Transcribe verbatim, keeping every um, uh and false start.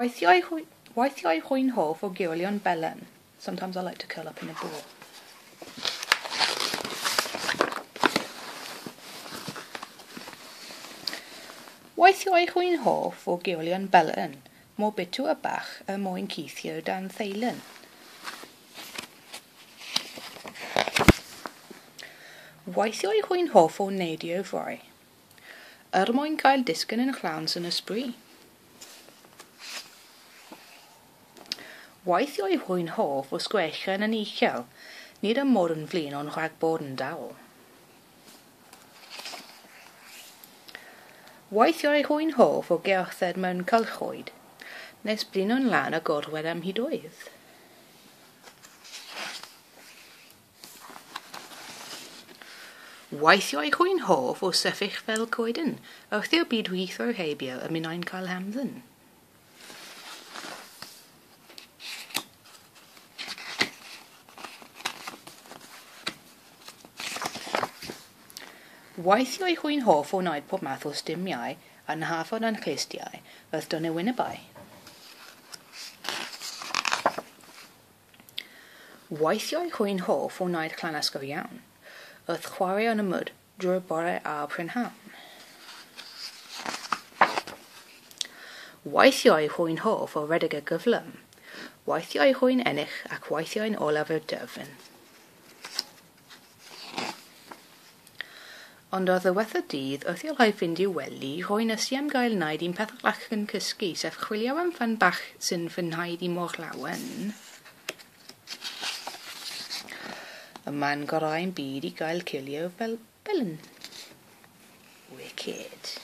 Weithiau, weithiau rwy'n hoff o gurlio'n belen. Sometimes I like to curl up in a ball. Weithiau rwy'n hoff o gurlio'n belen, mor bitw a bach er mwyn cuddio dan ddeilen. Weithiau rwy'n hoff o neidio fry, er mwyn cael disgyn yn llawns yn y sbri. Weithiau rwy'n hoff o sgrechian yn uchel, nid am mod yn flin ond rhag bod yn dawel. Weithiau rwy'n hoff o gerdded mewn cylchoedd, nes blino'n lân a gorwedd am hydoedd. Weithiau rwy'n hoff o sefyll fel coeden, wrth i'r byd rhuthro heibio a minnau'n cael hamdden. Weithiau rwy'n hoff o wneud pob math o stumiau a'n hafod a'n clustiau wrth don y wynebau. Weithiau rwy'n hoff o wneud llanast go iawn, wrth chwarae yn y mwd drwy'r bore a'r prynhawn. Weithiau rwy'n hoff o redeg y gyflym, weithiau rwy'n ennill ac weithiau'n olaf i'r derfyn. Ond ar ddiwedd y dydd, wrth i'r rhai fynd i'w wely, rwy'n ysu am gael wneud un peth arall yn cysgu, sef chwilio am fan bach sy'n fy ngwneud i mor lawen. Y man gorau'n byd i gael cilio fel belen. Wicked.